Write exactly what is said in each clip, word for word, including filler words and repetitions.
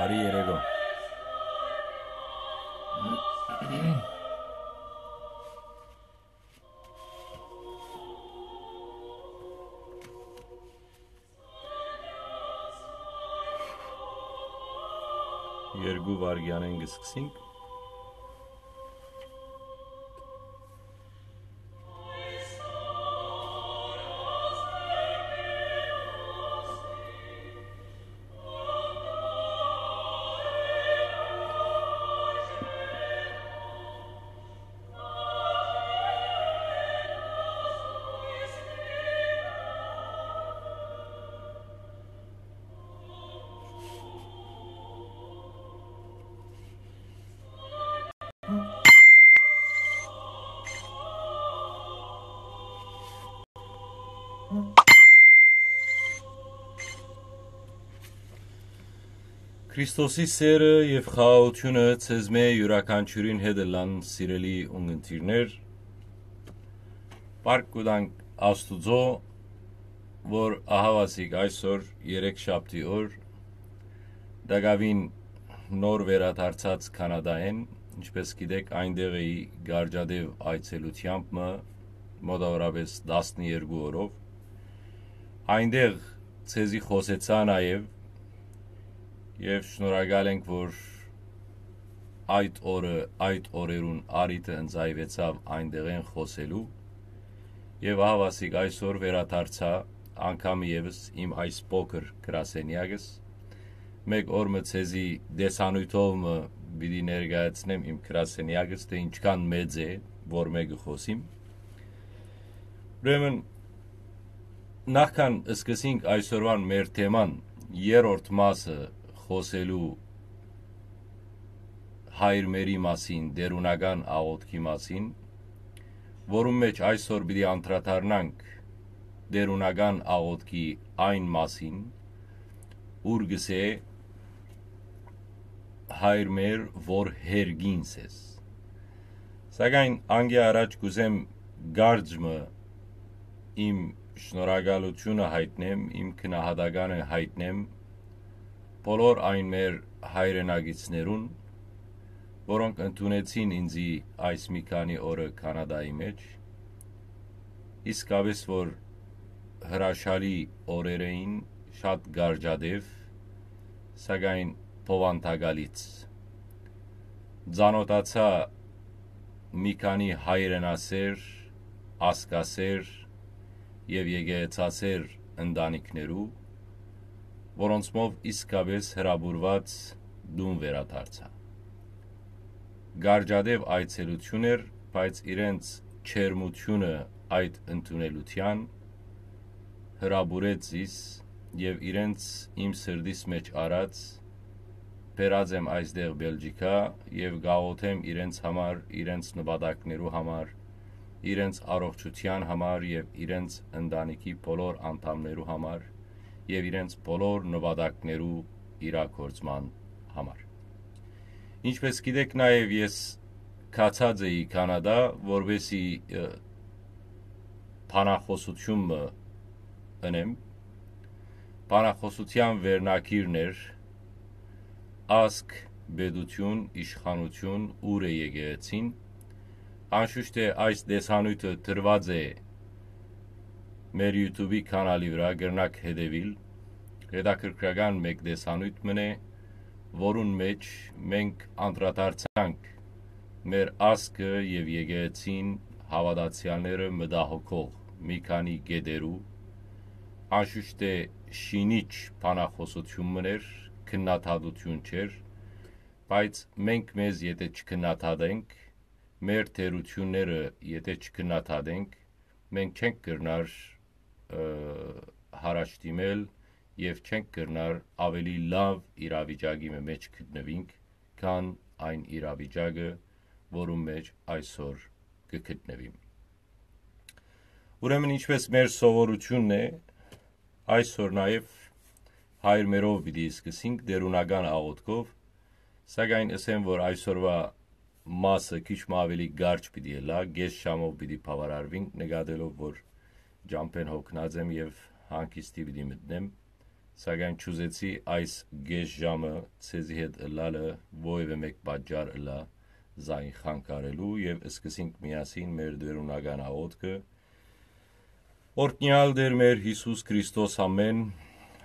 Բարի երեկո։ Երկու վայրկեանէն կը սկսենք։ Քրիստոսի սէրը եւ խաղաղութիւնը ձեզմէ յուրաքանչիւրին հետ ըլլան, սիրելի ունգընտիրներ։ Փառք կու տանք Աստուծոյ, որ ահաւասիկ այսօր, երեքշաբթի օր, տակաւին նոր վերադարձած Քանադայէն, ինչպէս գիտէք, այնտեղ էի կարճատեւ այցելութեամբ մը, մոտավորապես տասներկու օրով։ Այնտեղ ձեզի խօսեցայ նաեւ եւ շնորհակալ ենք, որ այդ օրը, այդ օրերուն առիթը ընծայուեցաւ այնտեղէն խօսելու։ Եւ ահաւասիկ այսօր վերադարձայ անգամ եւս իմ այս փոքր գրասենեակս։ Մէկ օր մը ձեզի տեսանոյթով մը պիտի ներկայացնեմ իմ գրասենեակս, թէ ինչքան մեծ է, որ մէկը խօսիմ։ Ուրեմն, նախքան սկսենք այսօրուան մեր թեման, երրորդ մասը խօսելու հայր մերի մասին, տէրունական աղօթքի մասին, որուն մէջ այսօր պիտի անդրադառնանք տէրունական աղօթքի այն մասին, ուր կսէ. «Հայր մեր, որ հերկինս ես»։ Սակայն անկէ առաջ կ'ուզեմ կարճ մը իմ շնորհակալութիւնը յայտնեմ, իմ գնահատականը յայտնեմ բոլոր այն մեր հայրենակիցներուն, որոնք ընդունեցին ինծի այս մի քանի օրը Քանադայի մէջ, իսկապէս որ հրաշալի օրեր էին, շատ կարճատեւ, սակայն բովանդակալից։ Ծանօթացայ մի քանի հայրենասէր, ազգասէր եւ եկեղեցասէր ընտանիքներու, որոնցմով իսկապէս հրապուրուած տուն վերադարձայ։ Կարճատեւ այցելութիւն էր, բայց իրենց ջերմութիւնը այդ ընդունելութեան հրապուրեց զիս եւ իրենց իմ սրտիս մէջ առած, բերած եմ այստեղ Բելգիքա եւ կ'աղօթեմ իրենց համար, իրենց նպատակներու համար, իրենց առողջութեան համար եւ իրենց ընտանիքի բոլոր անդամներու համար եւ իրենց բոլոր նպատակներու իրագործման համար։ Ինչպէս գիտէք, նաեւ ես գացած էի Քանադա, որպեսզի, ը, բանախօսութիւն մը ընեմ։ Բանախօսութեան վերնագիրն էր «Ազգ, պետութիւն, իշխանութիւն, ո՞ւր է եկեղեցին»։ Անշուշտ է, այս տեսանոյթը տրուած է մեր YouTube-ի կանալի վրայ, կրնաք հետեւիլ։ Հետաքրքրական մէկ տեսանոյթ մըն է, որուն մէջ մենք անդրադարձանք մեր ազգը եւ եկեղեցին հաւատացեալները մտահոգող մի քանի կետերու, անշուշտ է շինիչ բանախօսութիւն մըն էր, քննադատութիւն չէր, բայց մենք մեզ եթէ չքննադատենք, մեր թերութիւնները եթէ չքննադատենք, մենք չենք կրնար, ը, յառաջդիմել եւ չենք կրնար ավելի լաւ իրավիճակի մը մէջ գտնուինք, քան այն իրավիճակը, որուն մէջ այսօր կը գտնուիմ։ Ուրեմն, ինչպէս մեր սովորութիւնն է, այսօր նաեւ հայր մերով պիտի սկսենք տէրունական աղօթքով, սակայն ըսեմ, որ այսօրուա մասը քիչ մը ավելի կարճ պիտի ըլլայ, կէս ժամով պիտի բաւարարուինք, նկատելով որ ճամբէն յոգնած եմ եւ հանգիստի պիտի մտնեմ, Սակայն չուզեցի այս կէս ժամը ձեզի հետ ըլլալը որեւէ մէկ պատճառ ըլլայ զայն խանգարելու, եւ սկսենք միասին մեր դերունական աղօթքը։ Օրհնեալ Տէր մեր Յիսուս Քրիստոս, ամէն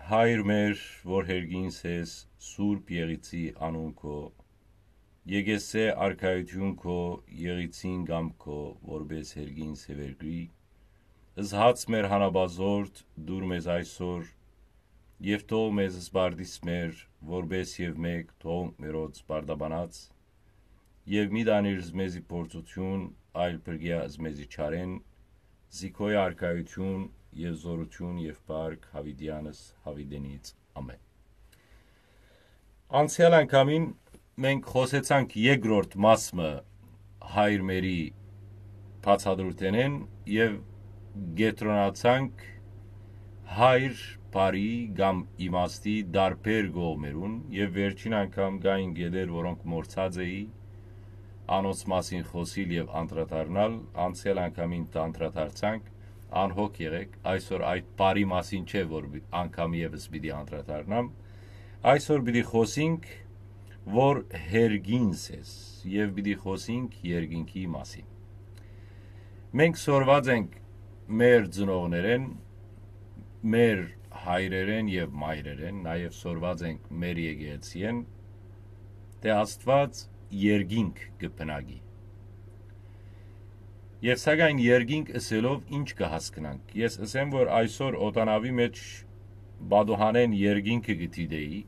Հայր մեր, որ հերգինս ես, Սուրբ Եղիցի անուն քո, եկեսե արքայութիւն քո, Եղիցին կամք քո, որպէս հերգինս եւ երկրի, զհաց մեր հանապազորդ դուր մեզ այսօր, եւ թող մեզ սպարտիս մեր, որպէս եւ մէկ թողունք մերոց սպարտաբանած, եւ մի տանիր զմեզի փորձութիւն, այլ փրկեա զմեզի չարէն, զի քոյ արքայութիւն եւ զօրութիւն եւ փառք յաւիտեանս յաւիտենից։ Ամէն։ Անցեալ անգամին մենք խօսեցանք երկրորդ մաս մը Հայր մերի բացատրութենէն եւ կեդրոնացանք Հայր բարի կամ իմաստի տարբեր կողմերուն, եւ վերջին անգամ կային կետեր, որոնք մոռցած էի անոնց մասին խօսիլ եւ անդրադառնալ, անցեալ անգամին անդրադարձանք, անհոգ եղէք, այսօր այդ բարի մասին չէ, որ պի-, անգամ եւս պիտի անդրադառնամ, այսօր պիտի խօսինք, որ հերգինս ես, եւ պիտի խօսինք երկինքի մասին։ Մենք սորված ենք մեր ծնողներէն, մեր հայրերէն եւ մայրերէն, նաեւ սորված ենք մեր եկեղեցիէն, թէ Աստուած երկինք կը բնակի։ Եւ սակայն երկինք ըսելով ի՞նչ կը հասկնանք։ Ես ըսեմ, որ այսօր օտանավի մէջ պատուհանէն երկինքը կը դիտէի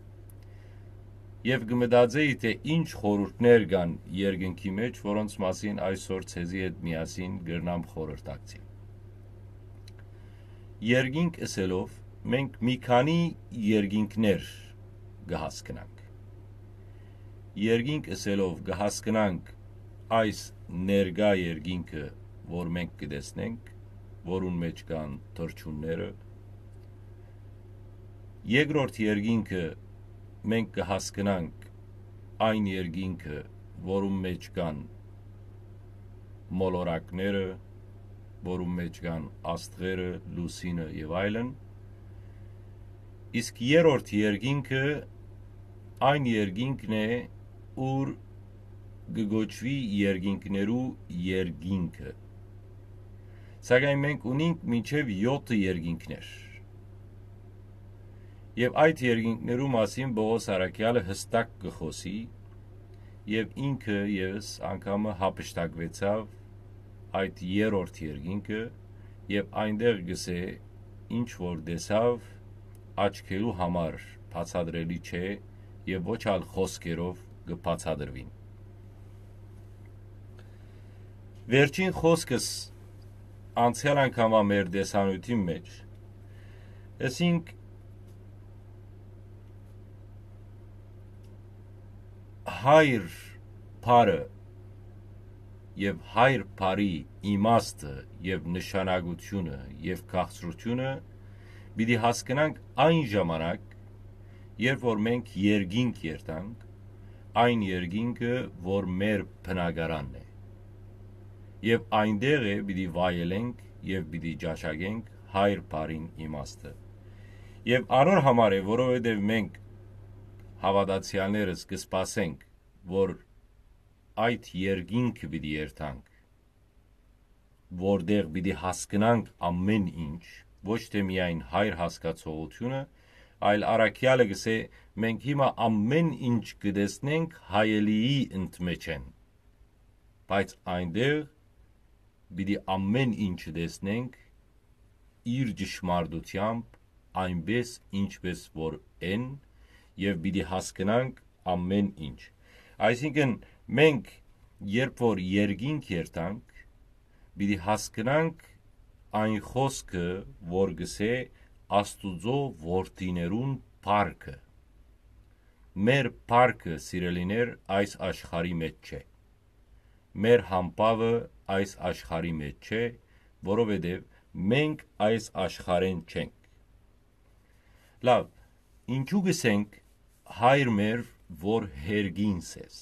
եւ կը մտածէի, թէ ի՞նչ խորհուրդներ կան երկինքի մէջ, որոնց մասին այսօր ձեզի հետ միասին կրնամ խորհրդակցիլ։ Երկինք ըսելով մենք մի քանի երկինքներ կը հասկնանք։ Երկինք ըսելով կը հասկնանք այս ներկայ երկինքը, որ մենք կը տեսնենք, որուն մէջ կան թռչունները։ Երկրորդ երկինքը մենք կը հասկնանք այն երկինքը, որուն մէջ կան մոլորակները, որուն մէջ կան աստղերը, լուսինը եւ այլն։ Իսկ երրորդ երկինքը այն երկինքն է, ուր կը կոչուի երկինքներու երկինքը։ Սակայն մենք ունինք մինչեւ եօթը երկինքներ։ Եւ այդ երկինքներու մասին Պողոս առաքեալը յստակ կը խօսի, եւ ինքը եւս անգամը յափշտակուեցաւ այդ երրորդ երկինքը, եւ այնտեղ գսէ, ինչ որ տեսաւ, աչքերու համար բացատրելի չէ եւ ոչ ալ խօսքերով կը բացատրուին։ Վերջին խօսքս անցեալ անգամվա մեր տեսանիութին մէջ, ըսինք, Հայր բառը եւ Հայր բառի իմաստը եւ նշանակութիւնը եւ քաղցրութիւնը պիտի հասկնանք այն ժամանակ, երբ որ մենք երկինք երթանք, այն երկինքը, որ մեր բնակարանն է։ Եւ այնտեղ է պիտի վայելենք եւ պիտի ճաշակենք Հայր բառին իմաստը։ Եւ անոր համար է, որովհետեւ մենք հաւատացեալներս կը սպասենք, որ այդ երկինքը պիտի երթանք, որտեղ պիտի հասկնանք ամեն ինչ, ոչ թէ միայն Հայր հասկացողութիւնը, այլ առաքեալը գսէ, մենք հիմա ամեն ինչ կը տեսնենք հայելիի ընդմեջէն, բայց այնտեղ պիտի ամեն ինչ տեսնենք իր ճշմարտությամբ, այնպես ինչպես որ են, եւ պիտի հասկնանք ամեն ինչ։ Այսինքն, մենք, երբ որ երկինք երթանք, պիտի հասկնանք այն խօսքը, որ գսէ Աստուծոյ որդիներուն փառքը։ Մեր փառքը, սիրելիներ, այս աշխարհի մէջ չէ։ Մեր համբաւը այս աշխարհի մէջ չէ, որովհետեւ մենք այս աշխարհէն չենք։ Լաւ, ինչու գսենք, Հայր մեր, որ հերգինս ես։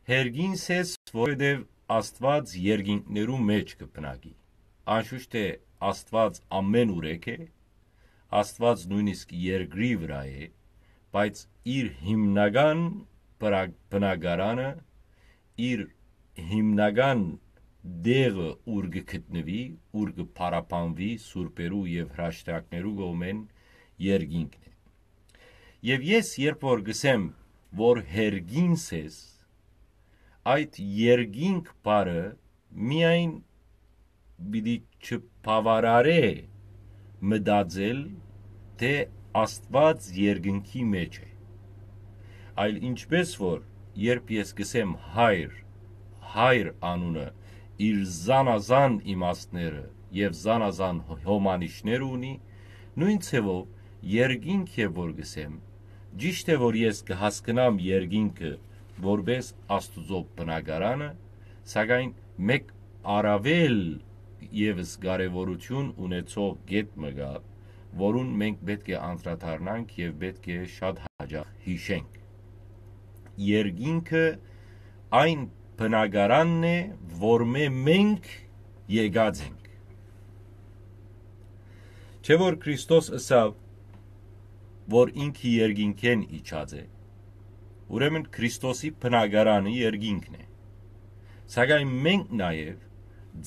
Հերգինս ես, որովհետեւ Աստուած երկինքներու մէջ կը բնակի։ Անշուշտ թէ Աստուած ամէն ուրեք է, Աստուած նոյնիսկ երկրի վրայ է, բայց իր հիմնական բնա-, բնակարանը, իր հիմնական տեղը, ուր կը գտնուի, ուր կը փառաբանուի սուրբերու եւ հրաշքներու կողմէն, երկինքն է։ Եւ ես երբ որ կ'ըսեմ, որ հերգինս ես, այդ երկինք բառը միայն պիտի չբաւարարէ մտածել, թէ Աստուած երկնքի մէջ է, այլ ինչպէս որ երբ ես կ'ըսեմ հայր, հայր անունը իր զանազան իմաստները եւ զանազան հոմանիշները ունի, նոյն ձեւով երկինք է որ կ'ըսեմ, ճիշդ է որ ես կը հասկնամ երկինքը որպէս Աստուծոյ բնակարանը, սակայն մէկ առաւել եւս կարեւորութիւն ունեցող կետ մը կայ, որուն մենք պէտք է անդրադառնանք եւ պէտք է շատ յաճախ յիշենք։ Երկինքը այն բնակարանն է, որմէ մենք եկած ենք։ Չէ՞ որ Քրիստոս ըսաւ, որ ինքը երկինքէն իջած է, ուրեմն Քրիստոսի բնակարանը երկինքն է։ Սակայն մենք նաեւ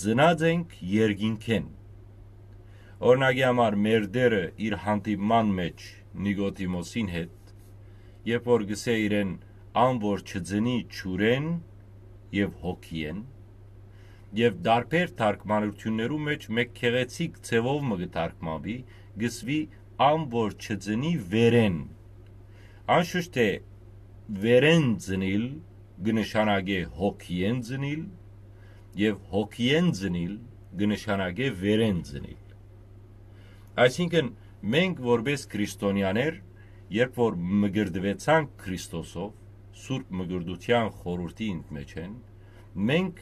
ծնած ենք երկինքէն։ Օրինակի համար, մեր Տէրը իր հանդիպման մէջ Նիկոդիմոսին հետ, երբ որ կ'ըսէ իրեն, ան որ չծնի ջուրէն եւ հոգիէն, եւ տարբեր թարգմանութիւններու մէջ մէկ գեղեցիկ ձեւով մը կը թարգմանուի, կ'ըսուի, ան որ չծնի վերէն։ Անշուշտ թէ վերէն ծնիլ կը նշանակէ հոգիէն ծնիլ, եւ հոգիէն ծնիլ կը նշանակէ վերէն ծնիլ։ Այսինքն, մենք որպէս քրիստոնեաներ, երբ որ մկրտուեցանք Քրիստոսով, Սուրբ Մկրտութեան խորհուրդի ինքմէջէն, մենք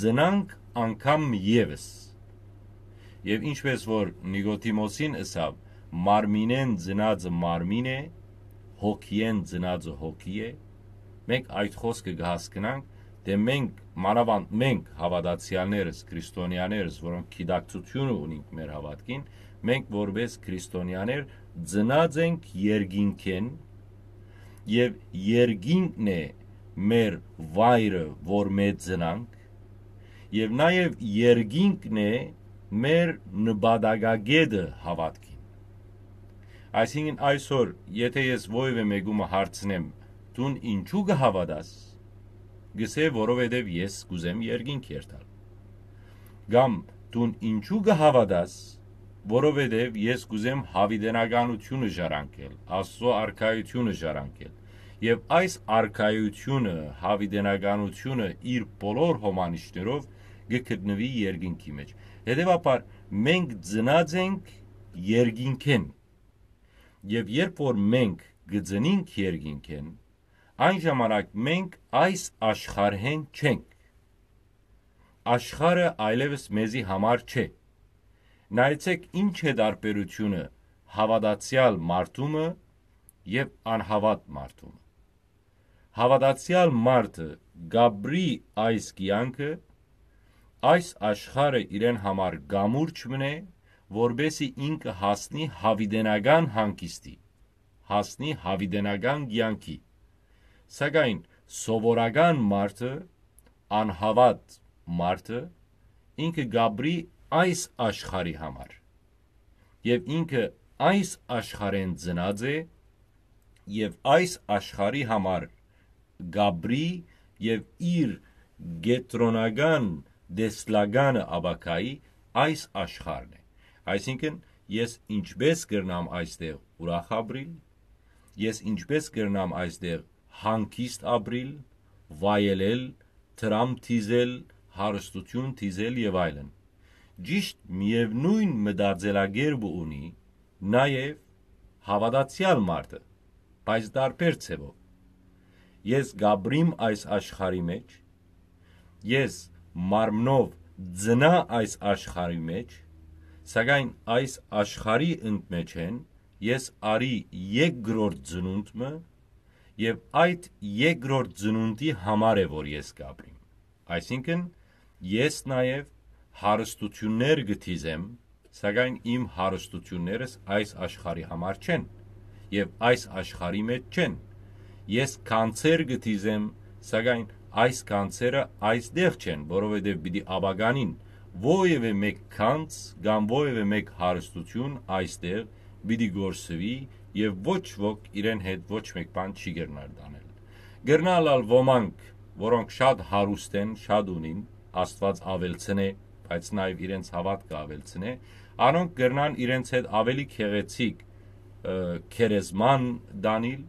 ծնանք անգամ եւս։ Եւ ինչպէս որ Նիկոդիմոսին ըսաւ, մարմինէն ծնածը մարմին է, հոգիէն ծնածը հոգի է, մենք այդ խօսքը կը հասկնանք, թէ մենք, մանաւանդ մենք, հաւատացեալներս, քրիստոնեաներս, որոնք գիտակցութիւնը ունինք մեր հաւատքին, մենք որպէս քրիստոնեաներ ծնած ենք երկինքէն, եւ երկինքն է մեր վայրը, որ մէ ծնանք, եւ նաեւ երկինքն է մեր նպատակագետը հաւատքին։ Այսինքն այսօր, եթե ես որեւէ մեկու մը հարցնեմ, դուն ինչու կը հաւատաս, կ'ըսէ, որովհետեւ ես կ'ուզեմ երկինք երթալ։ Կամ դուն ինչու կը հաւատաս, որովհետեւ ես կ'ուզեմ յաւիտենականութիւնը ժառանգել, Աստուծոյ արքայութիւնը ժառանգել։ Եւ այս արքայութիւնը, յաւիտենականութիւնը իր բոլոր հոմանիշներով կը գտնուի երկինքի մէջ։ Հետեւաբար մենք ծնած ենք երկինքէն։ Եւ երբ որ մենք կը ծնինք երկինքէն, այն ժամանակ մենք այս աշխարհէն չենք։ Աշխարհը այլեւս մեզի համար չէ։ Նայեցէք, ինչ է տարբերութիւնը հաւատացեալ մարդու մը եւ անհաւատ մարդու մը։ Հաւատացեալ մարդը կ'ապրի այս կեանքը, այս աշխարհը իրեն համար կամուրջ մըն է, որպէսզի ինքը հասնի յաւիտենական հանգիստի, հասնի յաւիտենական կեանքի։ Սակայն սովորական մարդը, անհաւատ մարդը, ինքը կ'ապրի այս աշխարհի համար։ Եւ ինքը այս աշխարհէն ծնած է, եւ այս աշխարհի համար կ'ապրի, եւ իր կեդրոնական տեսլականը ապագայի այս աշխարհն է։ Այսինքն, ես ինչպէս կրնամ այստեղ ուրախ ապրիլ, ես ինչպէս կրնամ այստեղ հանգիստ ապրիլ, վայելել, դրամ դիզել, հարստութիւն դիզել եւ այլն։ Ճիշդ միեւնոյն մտածելակերպը ունի նաեւ հաւատացեալ մարդը, բայց տարբեր ձեւով։ Ես կ'ապրիմ այս աշխարհի մէջ, ես մարմնով ծնայ այս աշխարհի մէջ, սակայն այս աշխարհի ընդմէջէն ես առի երկրորդ ծնունդ մը, եւ այդ երկրորդ ծնունդի համար է, որ ես կ'ապրիմ։ Այսինքն, ես նաեւ հարստութիւններ կը դիզեմ, սակայն իմ հարստութիւններս այս աշխարհի համար չեն, եւ այս աշխարհի մէջ չեն։ Ես գանձեր կը դիզեմ, սակայն այս գանձերը այստեղ չեն, որովհետեւ պիտի ապականին, որեւէ մէկ գանձ կամ որեւէ մէկ հարստութիւն այստեղ պիտի կորսուի, եւ ոչ ոք իրեն հետ ոչ մէկ բան չի կրնար տանել։ Կրնալ ալ ոմանք, որոնք շատ հարուստ են, շատ ունին, Աստուած աւելցնէ, բայց նաեւ իրենց հաւատքը աւելցնէ, անոնք կրնան իրենց հետ աւելի գեղեցիկ, ը, գերեզման տանիլ,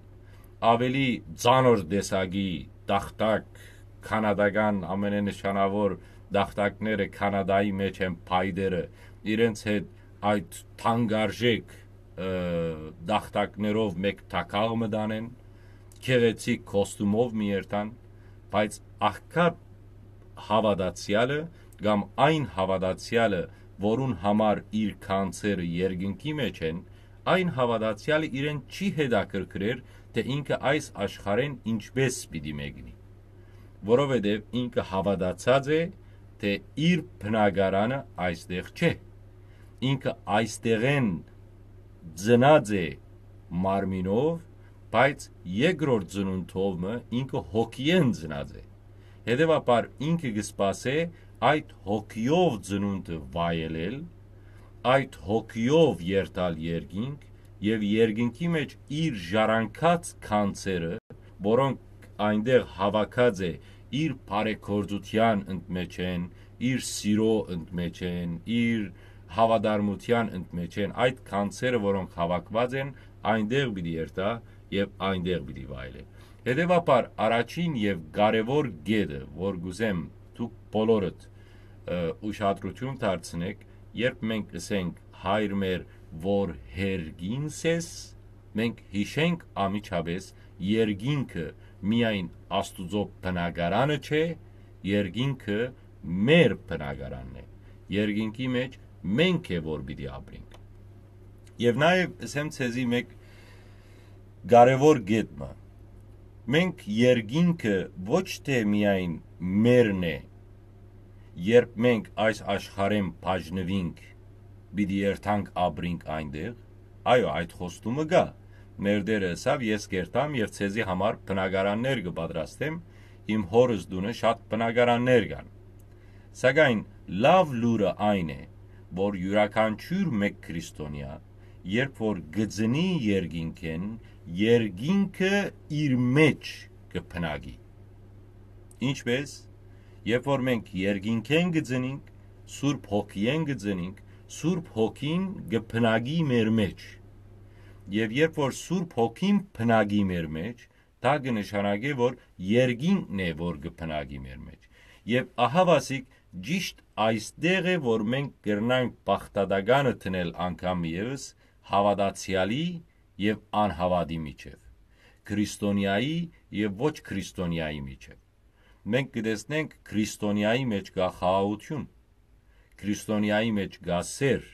աւելի ծանր տեսակի տախտակ, քանադական ամենանշանաւոր տախտակները Քանադայի մէջ են փայտերը, իրենց հետ այդ թանկարժեք, ը, տախտակներով մէկ թագաղ մը տանեն, գեղեցիկ կոստումով մի երթան, բայց աղքատ հաւատացեալը կամ այն հաւատացեալը, որուն համար իր գանձերը երկնքի մէջ են, այն հաւատացեալը իրեն չի հետաքրքրեր, թէ ինքը այս աշխարհէն ինչպէս պիտի մեկնի, որովհետեւ ինքը հաւատացած է, թէ իր բնակարանը այստեղ չէ։ Ինքը այստեղէն ծնած է մարմինով, բայց երկրորդ ծնունդով մը ինքը հոգիէն ծնած է։ Հետեւաբար ինքը կը սպասէ այդ հոգիով ծնունդը վայելել, այդ հոգիով երթալ երկինք եւ երկինքի մէջ իր ժառանգած գանձերը, որոնք այնտեղ հաւաքած է, իր բարեգործութեան ընդմէջ են, իր սիրո ընդմէջ են, իր հաւատարմութեան ընդմէջ են, այդ գանձերը, որոնք հաւաքուած են, այնտեղ պիտի երթա եւ այնտեղ պիտի վայելէ։ Հետեւաբար, առաջին եւ կարեւոր կետը, որ կ'ուզեմ դուք բոլորդ, ը, ուշադրութիւն դարձնէք, երբ մենք ըսենք «Հայր մեր, որ երկինս ես», մենք յիշենք անմիջապէս երկինքը միայն Աստուծոյ բնակարանը չէ, երկինքը մեր բնակարանն է։ Երկինքի մէջ մենք է, որ պիտի ապրենք։ Եւ նաեւ ըսեմ ձեզի մէկ կարեւոր կետ մը։ Մենք երկինքը ոչ թէ միայն մերն է, երբ մենք այս աշխարհէն բաժնուինք, պիտի երթանք ապրինք այնտեղ, այո, այդ խոստումը կայ։ Մեր Տէրը ըսաւ. «Ես կ'երթամ եւ ձեզի համար բնակարաններ կը պատրաստեմ, իմ հօրս տունը շատ բնակարաններ կան»։ Սակայն լաւ լուրը այն է, որ իւրաքանչիւր մէկ քրիստոնեայ, երբ որ կը ծնի երկինքէն, երկինքը իր մէջ կը բնակի։ Ինչպէս, երբ որ մենք երկինքէն կը ծնինք, Սուրբ Հոգիէն կը ծնինք, Սուրբ Հոգին կը բնակի մեր մէջ։ Եւ երբ որ Սուրբ Հոգին բնակի մեր մէջ, դա կը նշանակէ, որ երկինքն է, որ կը բնակի մեր մէջ։ Եւ ահաւասիկ ճիշտ այստեղ է, որ մենք կրնանք բաղդատականը դնել անգամ եւս հաւատացեալի եւ անհաւատի միջեւ, քրիստոնեայի եւ ոչ քրիստոնեայի միջեւ։ Մենք կը տեսնենք քրիստոնեայի մէջ կայ խաղաղութիւն, քրիստոնեայի մէջ կայ սէր,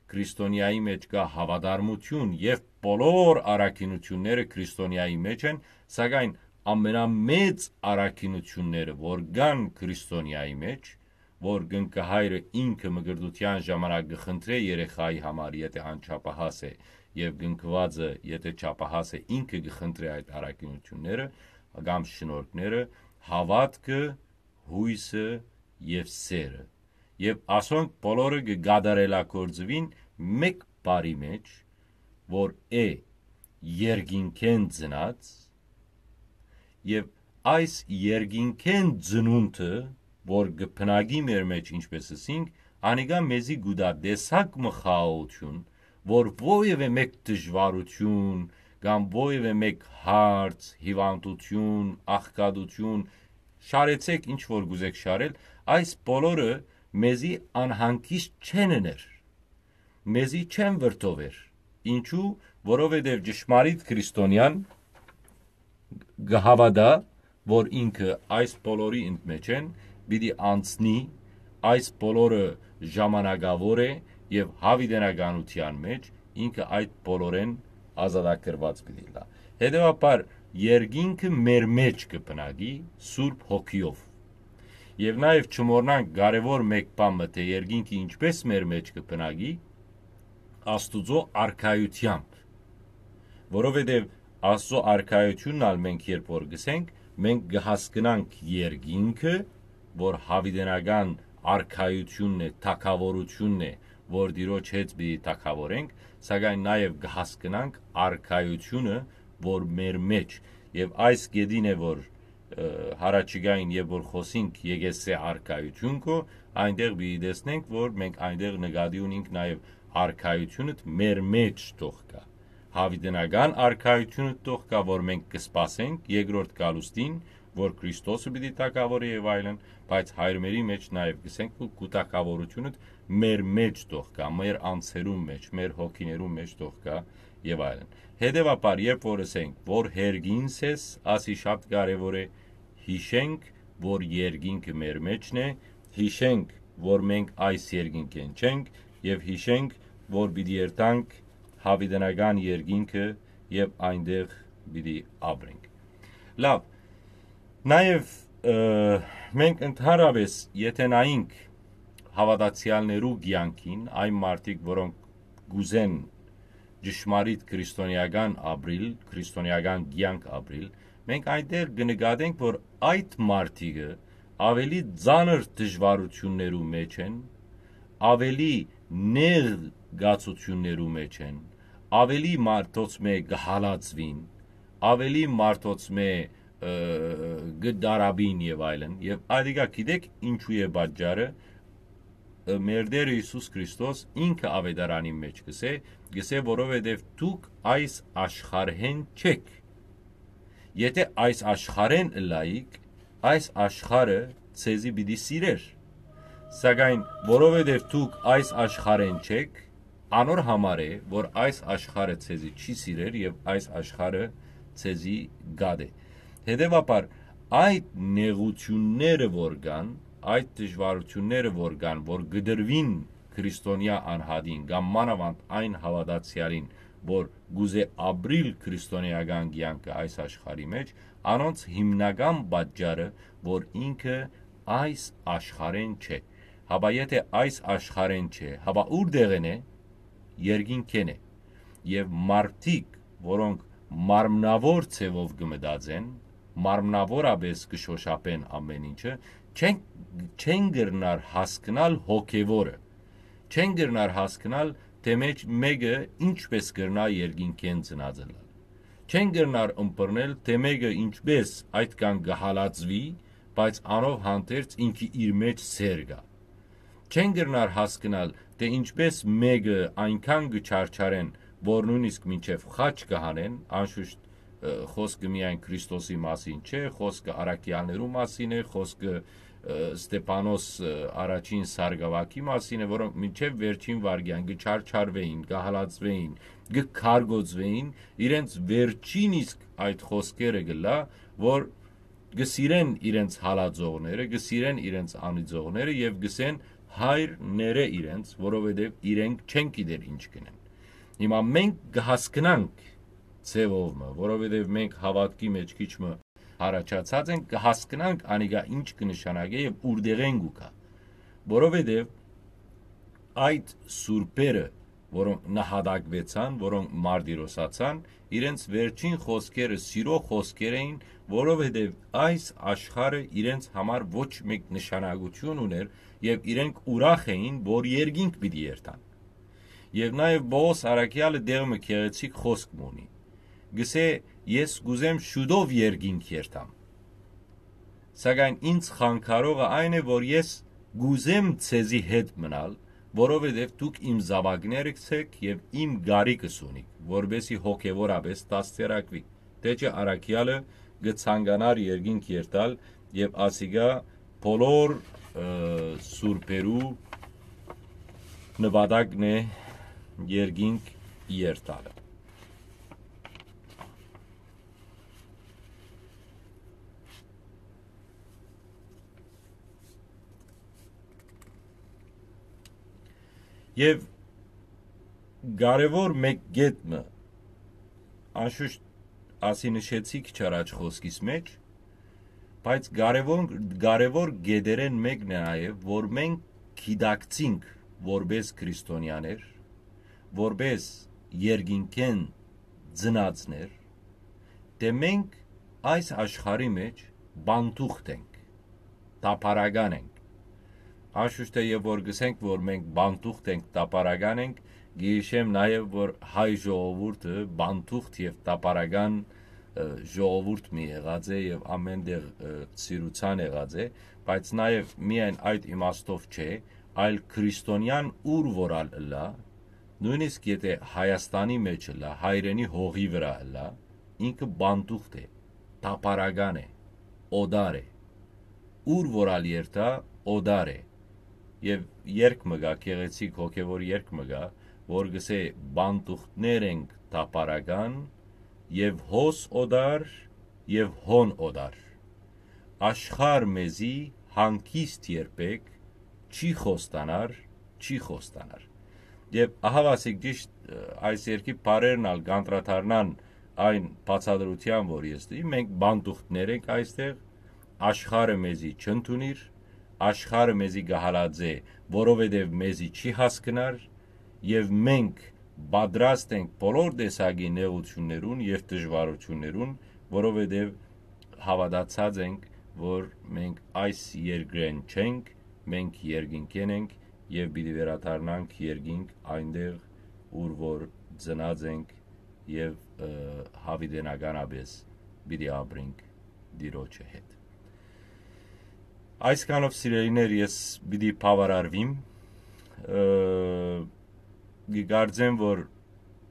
քրիստոնեայի մէջ կայ հաւատարմութիւն եւ բոլոր առաքինութիւնները քրիստոնեայի մէջ են, սակայն ամենամեծ առաքինութիւնները, որ կան քրիստոնեայի մէջ, որ կնքահայրը ինքը մկրտութեան ժամանակ կը խնդրէ երեխայի համար, եթէ անչափահաս է, եւ կնքուածը, եթէ չափահաս է, ինքը կը խնդրէ այդ առաքինութիւնները կամ շնորհքները, հաւատքը, յոյսը եւ սէրը։ Եւ ասոնք բոլորը կը կատարելագործուին մէկ բառի մէջ, որ է երկինքէն ծնած, եւ այս երկինքէն ծնունդը, որ կը բնակի մեր մէջ, ինչպէս ըսինք, անիկա մեզի կու տայ տեսակ մը խաղաղութիւն, որ որեւէ մէկ դժուարութիւն կամ որեւէ մէկ հարց, հիւանդութիւն, աղքատութիւն, շարեցէք ինչ որ կ'ուզէք շարել, այս բոլորը մեզի անհանգիստ չեն ըներ, մեզի չեն վրդովեր։ Ինչու՞, որովհետեւ ճշմարիտ քրիստոնեան կը հաւատայ, որ ինքը այս բոլորի ընդմէջէն պիտի անցնի, այս բոլորը ժամանակաւոր է եւ յաւիտենականութեան մէջ ինքը այդ բոլորէն ազատագրուած պիտի ըլլայ։ Հետեւաբար, երկինքը մեր մէջ կը բնակի Սուրբ Հոգիով։ Եւ նաեւ չմոռնանք կարեւոր մէկ բան մը, թէ երկինքը ինչպէս մեր մէջ կը բնակի, Աստուծոյ արքայութեամբ, որովհետեւ Աստուծոյ արքայութիւնն ալ մենք երբ որ գսենք, մենք կը հասկնանք երկինքը, որ յաւիտենական արքայութիւնն է, թագաւորութիւնն է, որ Տիրոջ հետ պիտի թագաւորենք, սակայն նաեւ կը հասկնանք արքայութիւնը, որ մեր մեջ, եւ այս կետին է, որ, ը, յառաջիկային, երբ որ խօսինք եկեղեցի արքայութիւն կո, այնտեղ պիտի տեսնենք, որ մենք այնտեղ նկատի ունենք նաեւ արքայութիւնը մեր մեջ թող գայ, յաւիտենական արքայութիւնը թող գայ, որ մենք կը սպասենք երկրորդ գալուստին, որ Քրիստոսը պիտի թագաւորի եւ այլն, բայց հայրմերի մեջ նաեւ գսենք, որ քու թագաւորութիւնը մեր մեջ թող գայ, մեր անձերուն մեջ, մեր հոգիներուն մեջ թող գայ եւ այլն։ Հետեւաբար, երբ որ ըսենք, որ հերգինս ես, ասի շատ կարեւոր է, յիշենք, որ երկինքը մեր մեջն է, յիշենք, որ մենք այս երկինքէն չենք, եւ յիշենք, որ պիտի երթանք յաւիտենական երկինքը եւ այնտեղ պիտի ապրենք։ Լավ, նաեւ, ը, մենք ընդհանրապէս, եթե նայենք հաւատացեալներու կեանքին, այն մարդիկ, որոնք կ'ուզեն ճշմարիտ քրիստոնեական ապրիլ, քրիստոնեական կեանք ապրիլ, մենք այնտեղ կը նկատենք, որ այդ մարդիկը աւելի ծանր դժուարութիւններու մեջ են, աւելի նեղ գացութիւններու մեջ են, աւելի մարդոց մէ կը հալածուին, աւելի մարդոց մէ, ը, կը դարապին եւ այլն։ Եւ ատիկա գիտեք ինչու է պատճառը։ Ը, մեր Տերը Յիսուս Քրիստոս ինքը աւետարանին մեջ կ'ըսէ, կ'ըսէ, որովհետեւ դուք այս աշխարհէն չեք։ Եթե այս աշխարհէն ըլլայիք, այս աշխարհը ձեզի պիտի սիրէր։ Սակայն որովհետեւ դուք այս աշխարհէն չեք, անոր համար է, որ այս աշխարհը ձեզի չի սիրեր եւ այս աշխարհը ձեզի գատէ։ Հետեւաբար, այդ նեղութիւնները որ կան, այդ դժուարութիւնները որ կան, որ կդրուին քրիստոնեայ անհատին կամ մանաւանդ այն հաւատացեալին, որ կ'ուզէ ապրիլ քրիստոնեական կեանքը այս աշխարհի մեջ, անոնց հիմնական պատճառը, որ ինքը այս աշխարհէն չէ։ Հապա եթե այս աշխարհէն չէ, հապա ուրտեղէն է, երկինքէն է։ Եւ մարդիկ, որոնք մարմնաւոր ձեւով կը մտածեն, մարմնաւորապէս կը շօշափեն ամէն ինչը, չեն, չեն կրնար հասկնալ հոգեվորը, չեն կրնար հասկնալ, թէ մեջ մէկը ինչպէս կրնայ երկինքէն ծնած ըլլալ։ Չեն կրնար ըմբռնել, թէ մէկը ինչպէս այդքան կը հալածուի, բայց անով հանդերձ ինքի իր մեջ սեր կայ։ Չեն կրնար հասկնալ, թէ ինչպէս մէկը այնքան կը չարչարեն, որ նոյնիսկ մինչեւ խաչ կը հանեն, անշուշտ, ը, խօսքը միայն Քրիստոսի մասին չէ, խօսքը առաքեալներու մասին է, խօսքը, ը, Ստեփանոս, ը, առաջին սարկաւագի մասին է, որոնք մինչեւ վերջին վայրկեան կը չարչարուէին, կը հալածուէին, կը քարկոծուէին, իրենց վերջին իսկ այդ խօսքերը կ'ըլլայ, որ կը սիրեն իրենց հալածողները, կը սիրեն իրենց անիծողները եւ կ'ըսեն հայր ներէ իրենց, որովհետեւ իրենք չեն գիտեր ինչ կ'ընեն։ Հիմա մենք կը հասկնանք ձեւով մը, որովհետեւ մենք հաւատքի մեջ քիչ մը յառաջացած ենք, կը հասկնանք անիկա ինչ կը նշանակէ եւ ուրտեղէն կու գայ։ Որովհետեւ այդ սուրբերը, որոնք նահատակուեցան, որոնք մարտիրոսացան, իրենց վերջին խօսքերը սիրո խօսքեր էին, որովհետեւ այս աշխարհը իրենց համար ոչ մէկ նշանակութիւն ունէր եւ իրենք ուրախ էին, որ երկինք պիտի երթան։ Եւ նաեւ Պողոս առաքեալը դեղ մը գեղեցիկ խօսք մը ունի։ Գսէ. «Ես կ'ուզեմ շուտով երկինք երթամ»։ Սակայն ինձ խանգարողը այն է, որ ես կ'ուզեմ ձեզի հետ մնալ, որովհետեւ դուք իմ զաւակներս եք եւ իմ կարիքս ունիք, որպեսզի հոգեվորապէս դաստիարակուիք։ Թէ չէ առաքեալը կը ցանկանար երկինք երթալ եւ ասիկա բոլոր, ը, սուրբերու նպատակն է երկինք երթալը։ Եւ կարեւոր մէկ կետ մը, անշուշտ ասի նշեցի քիչ առաջ խօսքիս մեջ, բայց կարեւոր, կարեւոր կետերէն մէկն է նաեւ, որ մենք գիտակցինք որպէս քրիստոնեաներ, որպէս երկինքէն ծնածներ, թէ մենք այս աշխարհի մէջ բանտուղտ ենք, տափարական ենք։ Անշուշտ թէ եւ որ գսենք, որ մենք բանտուղտ ենք, տափարական ենք, գիշեմ նաեւ, որ հայ ժողովուրդը բանտուղտ եւ տափարական, ը, ժողովուրդ մի եղած է եւ ամեն տեղ, ը, սիրուցան եղած է, բայց նաեւ միայն այդ իմաստով չէ, այլ քրիստոնեան ուր որ ալ ըլլայ, նոյնիսկ եթէ Հայաստանի մէջ ըլլայ, հայրենի հողի վրայ ըլլայ, ինքը բանտուղտ է, տափարական է, օտար է։ Ուր որ ալ երթայ, օտար է։ Եւ երգ մը կայ, գեղեցիկ հոգեւոր երգ մը կայ, որ գսէ. «Բանտուղտներ ենք տափարական, եւ հոս օտար, եւ հոն օտար։ Աշխարհ մեզի հանգիստ երբեք չի խոստանար, չի խոստանար»։ Եւ ահաւասիկ ճիշտ, ը, այս երկի բառերն ալ կանդրադառնան այն բացատրութեան, որ ես տուի, մենք բանտուղտներ ենք այստեղ, աշխարհը մեզի չընդունիր, աշխարհը մեզի կը հալածէ, որովհետեւ մեզի չի հասկնար, եւ մենք պատրաստ ենք բոլոր տեսակի նեղութիւններուն եւ դժուարութիւններուն, որովհետեւ հաւատացած ենք, որ մենք այս երկրէն չենք, մենք երկինքէն ենք եւ պիտի վերադառնանք երկինք, այնտեղ, ուր որ ծնած ենք, եւ, ը, յաւիտենականապէս պիտի ապրենք Տիրոջը հետ։ Այսքանով, սիրելիներ, ես պիտի բաւարարվիմ, ը, կկարծեմ, որ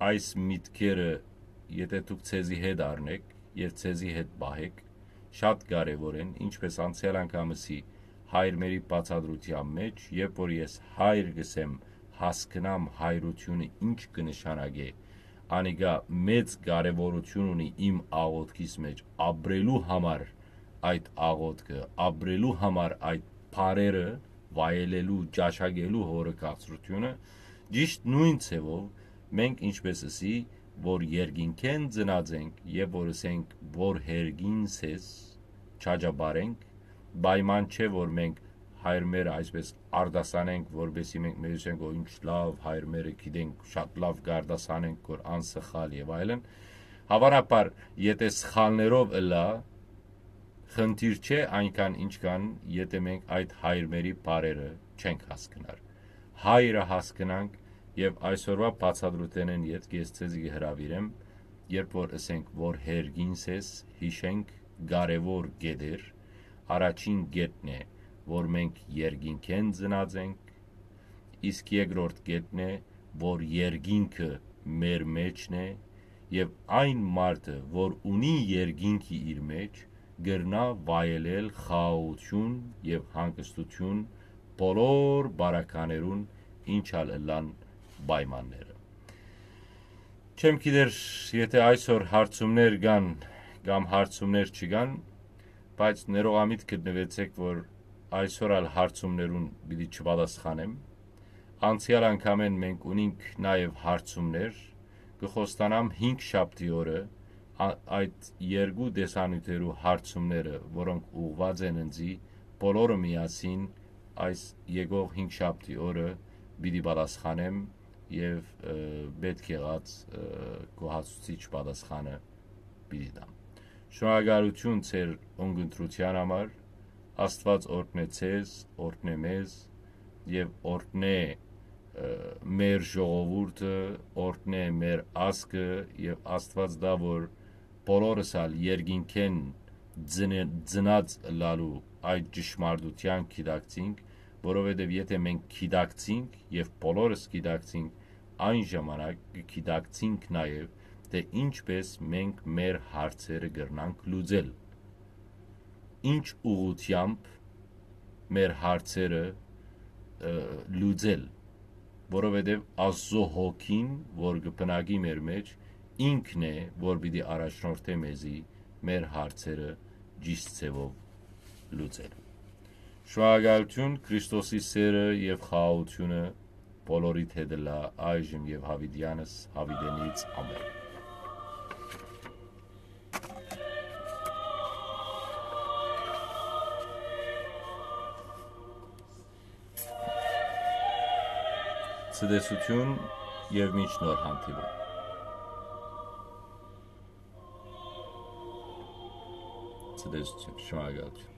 այս միտքերը, եթէ դուք ձեզի հետ առնէք եւ ձեզի հետ պահէք, շատ կարեւոր են, ինչպէս անցեալ անգամ ըսի հայրմերի բացատրութեան մէջ, երբ որ ես հայր կ'ըսեմ, հասկնամ հայրութիւնը ինչ կը նշանակէ, անիկա մեծ կարեւորութիւն ունի իմ աղօթքիս մէջ, ապրելու համար այդ աղօթքը, ապրելու համար այդ բառերը, վայելելու, ճաշակելու հօրը քաղցրութիւնը, ճիշտ նոյն ձեւով մենք, ինչպէս ըսի, որ երկինքէն ծնած ենք եւ որ ըսենք, որ հերգին սես, չաճապարենք, պայման չէ, որ մենք հայրմերը այսպես արտասանենք, որպեսզի մենք մեզի ասենք, «Ո, ինչ լաւ, հայրմերը գիտենք, շատ լաւ կարտասանենք, որ անսխալ» եւ այլն։ Հաւանաբար, եթէ սխալներով ըլլայ, խնդիր չէ այնքան, ինչքան եթէ մենք այդ հայրմերի բառերը չենք հասկնար։ Հայրը հասկնանք, եւ այսօրուայ բացատրութենէն ետք ես ձեզի կը հրաւիրեմ, երբ որ ըսենք, որ հերգին սես, յիշենք կարեւոր կետեր, առաջին կետն է, որ մենք երկինքէն ծնած ենք, իսկ երկրորդ կետն է, որ երկինքը մեր մէջն է, եւ այն մարդը, որ ունի երկինքը իր մէջ, կրնայ վայելել խաղաղութիւն եւ հանգստութիւն բոլոր բարականերուն, ինչ ալ ըլլան պայմանները։ Չեմ գիտեր, եթէ այսօր հարցումներ կան կամ հարցումներ չկան, բայց ներողամիտ գտնուեցէք, որ այսօր ալ հարցումներուն պիտի չպատասխանեմ։ Անցեալ անգամէն մենք ունինք նաեւ հարցումներ, կը խոստանամ հինգ շաբթի օրը, ա-, այդ երկու տեսանիւթերու հարցումները, որոնք ուղղուած են ինձի, բոլորը միասին այս եկող հինգ շաբթի օրը պիտի պատասխանեմ եւ, ը, պէտք եղած, ը, գոհացուցիչ պատասխանը պիտի տամ։ Շնորհակալութիւն ձեր ունգընտրութեան համար, Աստուած օրհնէ ձեզ, օրհնէ մեզ եւ օրհնէ, ը, մեր ժողովուրդը, օրհնէ մեր ազգը եւ Աստուած տայ, որ բոլորս ալ երկինքէն ծնե-, ծնած ըլլալու այդ ճշմարտութեան գիտակցինք, որովհետեւ եթէ մենք գիտակցինք եւ բոլորս գիտակցինք, այն ժամանակ կը գիտակցինք նաեւ, թէ ինչպէս մենք մեր հարցերը կրնանք լուծել, ինչ ուղղութեամբ մեր հարցերը, ը, լուծել, որովհետեւ Աստուծոյ հոգին, որ կը բնակի մեր մէջ, ինքն է, որ պիտի առաջնորդէ մեզի մեր հարցերը ճիշտ ձեւով լուծել։ Շնորհակալութիւն, Քրիստոսի սէրը եւ խաղաղութիւնը բոլորիդ հետ ըլլայ այժմ եւ յաւիտեանս յաւիտենից։ Ամէն։ Ցտեսութիւն, Եւ մինչ նոր հանդիպում։ Ցտեսություն, շնորհակալություն։